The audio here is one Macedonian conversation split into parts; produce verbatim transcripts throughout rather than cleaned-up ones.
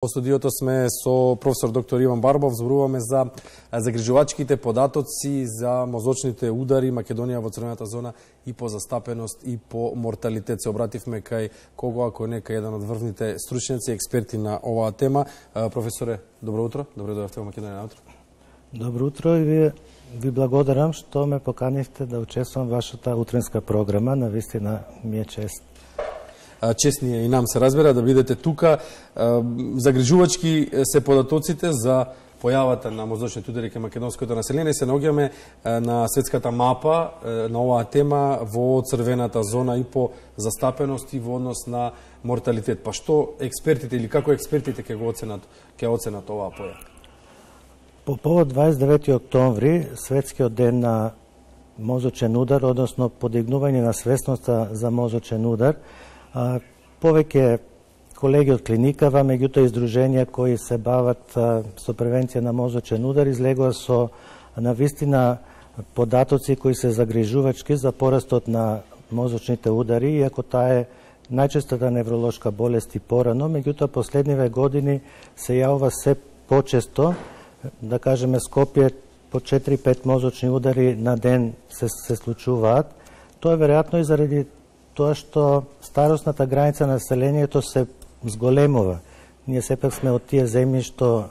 Во студиото сме со професор доктор Иван Барбов, зборуваме за загрижувачките податоци за мозочните удари Македонија во црвената зона и по застапеност и по морталитет. Се обративме кај кого, ако не кај еден од врвните стручњаци, експерти на оваа тема. Професоре, добро утро, добро дојдовте во Македонија на утро. Добро утро и ви, ви благодарам што ме поканивте да учествувам во вашата утринска програма. Навистина ми е чест. Честни е и нам се разбира да бидете тука. Загрижувачки се податоците за појавата на мозочните удари кај македонското население. Се наоѓаме на светската мапа на оваа тема во црвената зона и по застапеност и во однос на морталитет. Па што експертите или како експертите ќе го оценат, ќе оценат оваа појава? По повод дваесет и девети октомври, светскиот ден на мозочен удар, односно подигнување на свесноста за мозочен удар, А, повеќе колеги од клиникава, меѓутоа издруженија кои се бават а, со превенција на мозочен удар, излегува со навистина податоци кои се загрижувачки за порастот на мозочните удари, иако таа е најчестата невролошка болест и порано, меѓутоа последниве години се јавува се почесто, да кажеме Скопје по четири-пет мозочни удари на ден се, се случуваат. Тоа е веројатно и заради тоа што старосната граница на населението се зголемува. Ние сепак сме од тие земји што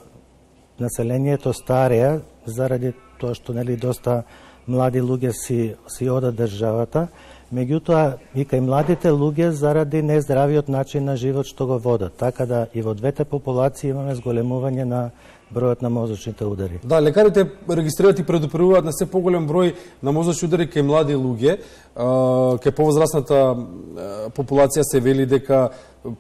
населението стареа заради тоа што нели доста млади луѓе си си одат државата, меѓутоа и кај младите луѓе заради нездравиот начин на живот што го водат. Така да и во двете популации имаме зголемување на бројот на мозочните удари. Да, лекарите регистрираат и предупредуваат на се поголем број на мозочни удари кај млади луѓе. Кај повозрастната популација се вели дека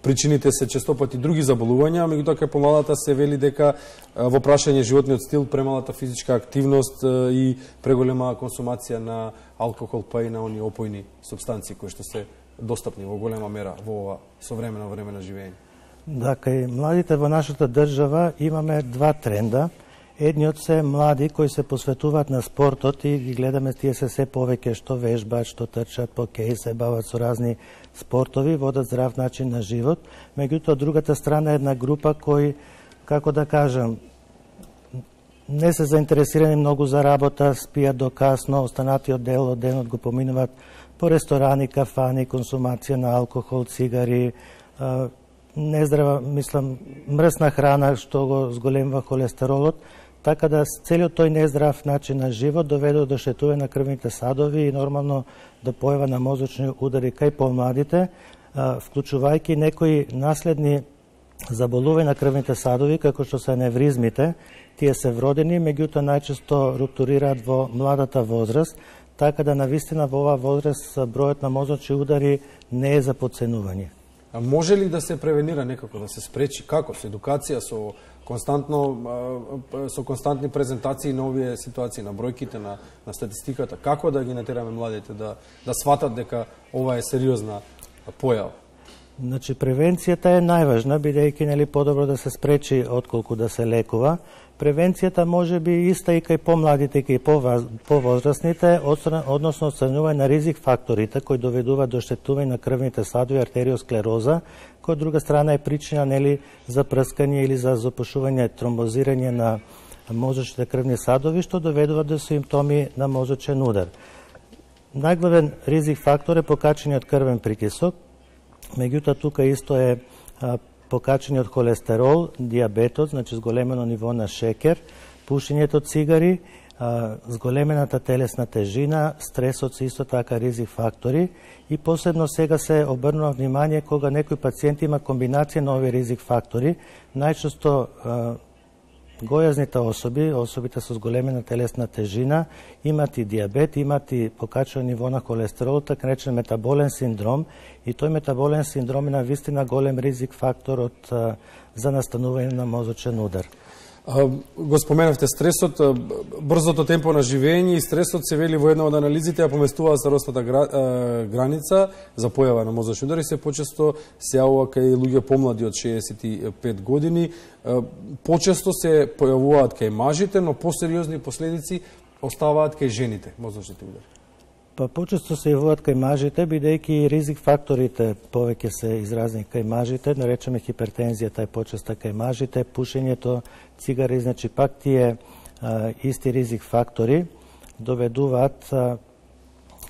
причините се честопати други заболувања, меѓутоа кај помладата се вели дека во прашање животниот стил, премалата физичка активност и преголема консумација на алкохол, па и на они опојни супстанции кои што се достапни во голема мера во ова современо време на живење. Да, кај младите во нашата држава имаме два тренда. Едниот се млади кои се посветуваат на спортот и ги гледаме тие се се повеќе што вежбаат, што трчат по кеј, се бават со разни спортови, водат здрав начин на живот. Меѓутоа, другата страна е една група кои, како да кажам, не се заинтересирани многу за работа, спијат до касно, останатиот дел од денот го поминуваат по ресторани, кафани, консумација на алкохол, цигари, нездрава, мислам, мрсна храна што го зголемува холестеролот, така да целиот тој нездрав начин на живот доведе до штетување на крвните садови и нормално до појава на мозочни удари кај помладите, вклучувајќи некои наследни заболувања на крвните садови, како што се аневризмите. Тие се вродени, меѓутоа најчесто руптурираат во младата возраст, така да навистина во оваа возраст бројот на мозочни удари не е за подценување. А може ли да се превенира некако, да се спречи? Како? Со едукација, со константно со константни презентации на овие ситуации, на бројките, на, на статистиката? Како да ги натераме младите да, да сватат дека ова е сериозна појава? Значи, превенцијата е најважна, бидејќи нели подобро да се спречи отколку да се лекува. Превенцијата може би иста и кај помладите, и кај повозрастните, односно оценување на ризик факторите кои доведуваат до штетување на крвните садови, артериосклероза, кој од друга страна е причина нели за прскање или за запушување, тромбозирање на мозочните крвни садови, што доведува до симптоми на мозочен удар. Најглавен ризик фактор е покачениот крвен притисок, меѓутоа тука исто е покачениот холестерол, диабетот, значи зголемено ниво на шекер, пушењето цигари, зголемената телесна тежина, стресот се исто така ризик фактори и посебно сега се обрнува внимание кога некој пациент има комбинација на овие ризик фактори, најчесто гојазните особи, особите со зголемена телесна тежина, имат и диабет, имат и покачено ниво на холестерол, така наречен метаболен синдром, и тој метаболен синдром е навистина голем ризик фактор од, за настанување на мозочен удар. Го споменавте стресот, брзото темпо на живење и стресот се вели во една од анализите, ја поместува старосната граница за појава на мозочни удари, се почесто се јавува кај луѓе помлади од шеесет и пет години. Почесто се појавуваат кај мажите, но посериозни последици оставаат кај жените, мозочните удари. Па почесто се јавуваат кај мажите, бидејќи ризик факторите повеќе се изразни кај мажите, наречеме хипертензијата е почеста кај мажите, пушењето, цигари, значи пак тие а, исти ризик фактори доведуваат а,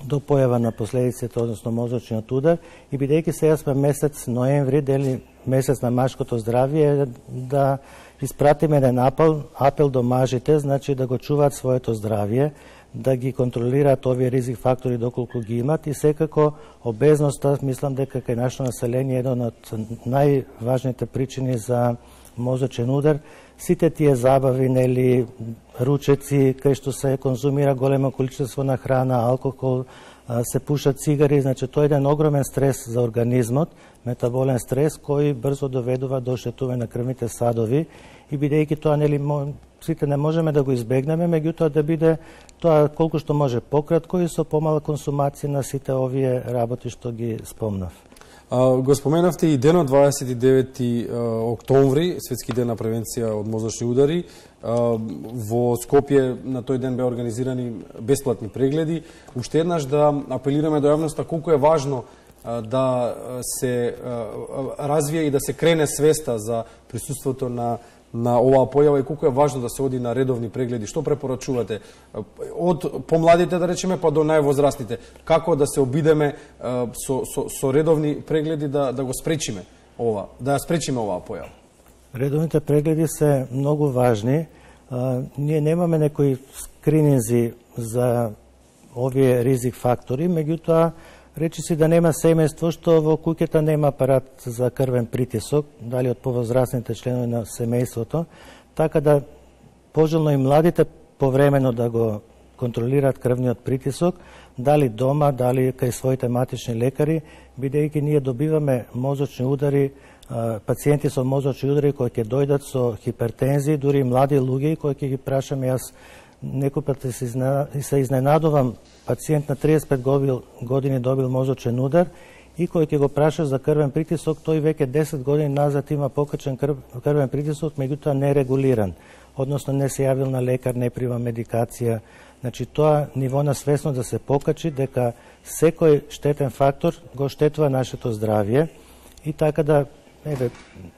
до појава на последиците, односно мозочниот удар, и бидејќи сега сме месец ноември, дели месец на машкото здравје, да испратиме еден апел, апел до мажите, значи да го чуваат своето здравје, да ги контролираат овие ризик фактори доколку ги имат, и секако обезноста, мислам дека кај нашето население е еден од најважните причини за мозочен удар. Сите тие забави, нели, ручеци, кај што се конзумира големо количество на храна, алкохол, се пушат цигари, значи тоа е еден огромен стрес за организмот, метаболен стрес кој брзо доведува до оштетување на крвните садови, и бидејќи тоа, нели, сите не можеме да го избегнеме, меѓутоа да биде тоа колку што може пократко и со помала консумација на сите овие работи што ги спомнав. А, го споменавте и денот дваесет и девети октомври, Светски ден на превенција од мозочни удари. А, во Скопје на тој ден беа организирани бесплатни прегледи. Уште еднаш да апелираме до јавноста колку е важно а, да се а, развие и да се крене свеста за присуството на на оваа појава и колку е важно да се оди на редовни прегледи. Што препорачувате од помладите, да речеме, па до највозрастните? Како да се обидеме со, со, со редовни прегледи да, да го спречиме ова, да ја спречиме оваа појава? Редовните прегледи се многу важни. А, ние немаме некои скрининзи за овие ризик фактори, меѓутоа речи си да нема семејство што во куќата нема апарат за крвен притисок, дали од повозрастните членови на семејството, така да пожелно и младите повремено да го контролираат крвниот притисок, дали дома, дали кај своите матични лекари, бидејќи ние добиваме мозочни удари, пациенти со мозочни удари кои ќе дојдат со хипертензија, дури млади луѓе кои ќе ги прашаме, јас некој пат се изненадувам, пациент на триесет и пет години добил мозочен удар и кој ќе го праша за крвен притисок, тој веќе десет години назад има покачен крв, крвен притисок, меѓутоа не регулиран, односно не се јавил на лекар, не прима медикација. Значи тоа ниво на свесност да се покачи дека секој штетен фактор го штетува нашето здравје, и така да еве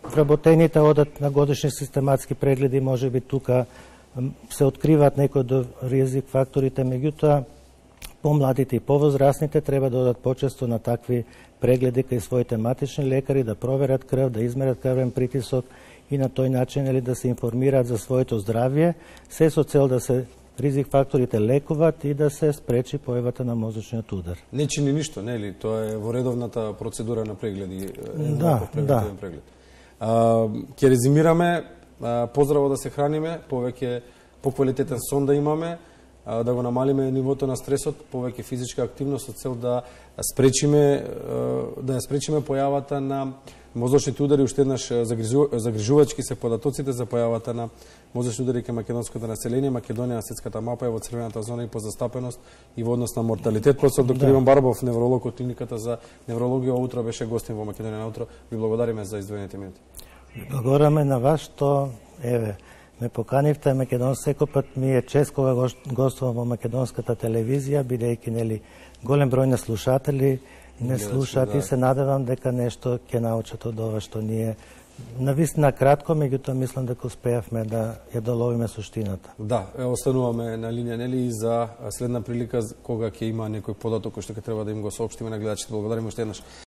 вработените одат на годишни систематски прегледи, можеби тука се откриваат некои од ризик факторите, меѓутоа помладите и повозрастните треба да одат почесто на такви прегледи кај своите матични лекари, да проверат крв, да измерат крвен притисок и на тој начин или да се информираат за своето здравје, се со цел да се ризик факторите лекуваат и да се спречи појавата на мозочниот удар. Не чини ништо, нели? Тоа е во редовната процедура на прегледи. Да, да. Преглед. А, ќе резимираме, а, поздраво да се храниме, повеќе поквалитетен сон да имаме, да го намалиме нивото на стресот, повеќе физичка активност со цел да спречиме да ја спречиме појавата на мозочните удари. Уште еднаш загрижувачки се податоците за појавата на мозочни удари кај македонското население. Македонија на светската мапа е во црвената зона и по застапеност и во однос на морталитет. Професор доктор Иван Барбов, невролог од клиниката за неврологија, утро беше гостин во Македонија на утро. Ви благодариме за издвоените минути. Благодараме на вас што еве ме поканивте. Македон секој пат ми е чест кога гостувам во македонската телевизија, бидејќи нели голем број на слушатели не слушаат, и се надевам дека нешто ќе научат од ова што ние навистина кратко, меѓутоа мислам дека успеавме да ја доловиме суштината. Да, остануваме на линија, нели, и за следна прилика кога ќе има некој податок кој што ќе треба да им го соопштиме на гледачите. Благодариме уште еднаш.